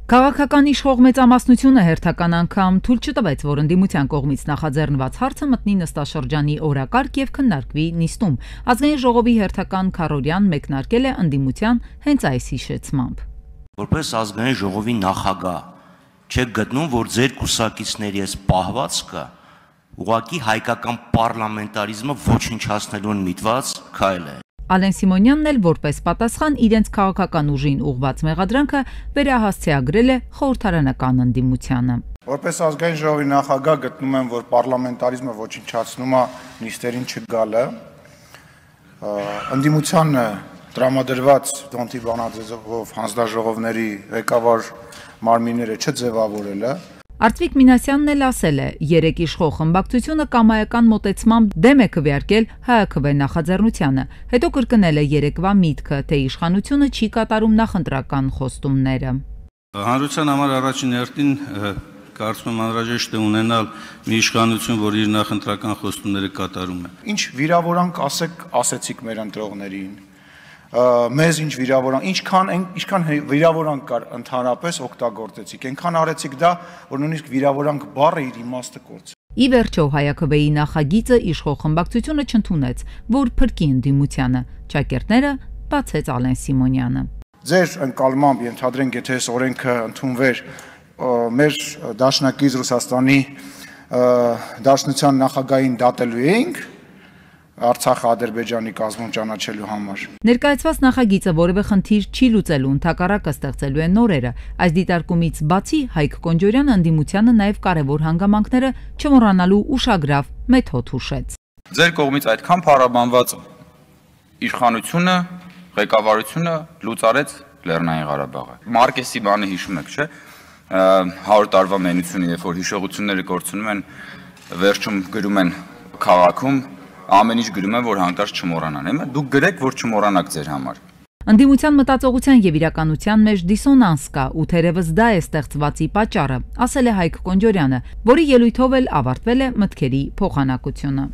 Քաղաքական իշխող մեծամասնությունը հերթական անգամ թույլ չտվեց, որ ընդդիմության կողմից նախաձեռնված հարցը մտնի նստաշրջանի օրակարգ եւ քննարկվի նիստում։ Ազգային ժողովի հերթական քառօրյան մեկնարկել է ընդդիմության հենց այս հիշեցմամբ։ Որպես ազգային ժողովի նախագահ չեք գտնում, որ ձեր կուսակիցների այս պահվածքը ուղղակի հայկական պարլամենտարիզմը ոչնչացնելուն միտված քայլ է։ Ալեն Սիմոնյանն էլ որպես պատասխան իրենց քաղաքական ուժին ուղղված մեղադրանքը վերահասցեագրել է խորհրդարանական ընդդիմությանը։ Որպես ազգային ժողովի նախագահ գտնում եմ, որ պարլամենտարիզմը ոչնչացնում է նիստերին չգալը, ընդդիմությանը տրամադրված Դոնտի բանաձևով հանձնաժողովների ղեկավար մարմինները չձևավորելը։ Արտվիկ Մինասյանն էլ ասել է, երեք իշխող խմբակցությունը կամայական մոտեցմամբ դեմ է քվեարկել ՀԱԿ նախաձեռնությանը, հետո կրկնել է երեկվա միտքը, թե իշխանությունը չի կատարում նախընտրական խոստումները։ Հանրության համար առաջին հերթին կարծում եմ անհրաժեշտ է ունենալ մի իշխանություն, որ իր նախընտրական խոստումները կատարում է։ Ինչ վիրավորանք ասեցիք մեր ընտրողներին, մեզ ինչ վիրավորանք, ինչքան վիրավորանք կար ընդհանրապես օգտագործեցիք, այնքան արեցիք դա, որ նույնիսկ վիրավորանք բառը իր իմաստը կորց։ Ի վերջո ՀԱԿ-ի նախագիծը իշխող խմբակցությունը չընդունեց, որ փրկի ընդդիմությանը, ճակերտները բացեց Ալեն Սիմոնյանը։ Ձեր ընկալմամբ ենթադրենք, եթե այս օրենքը ընդունվեր, մեր դաշնակից Ռուսաստանի դաշնության նախագահին դատելու էինք Արցախը Ադրբեջանի կազմում ճանաչելու համար։ Ներկայացված նախագիծը որևէ խնդիր չի լուծելու, ընդհակառակը ստեղծելու է նորերը։ Այս դիտարկումից բացի Հայկ Կոնջորյանը ընդդիմությանը նաև կարևոր հանգամանքները չմոռանալու ուշագրավ մեթոդ հուշեց։ Ձեր կողմից այդքան փառաբանված իշխանությունը, ղեկավարությունը լուծարեց Լեռնային Ղարաբաղը։ Մարկեսի բանը հիշում եք, չէ՞։ 100 տարվա մենությունը, երբ որ հիշողությունները կորցնում են, վերջում գրում են քաղաքում ամեն ինչ գրում են, որ հանկարծ չմոռանան։ Հիմա դուք գրեք, որ չմոռանաք ձեր համար։ Ընդդիմության մտածողության եւ իրականության մեջ դիսոնանս կա, ու թերևս դա է ստեղծվածի պատճառը, ասել է Հայկ Կոնջորյանը, որի ելույթով էլ ավարտվել է մտքերի փոխանակությունը։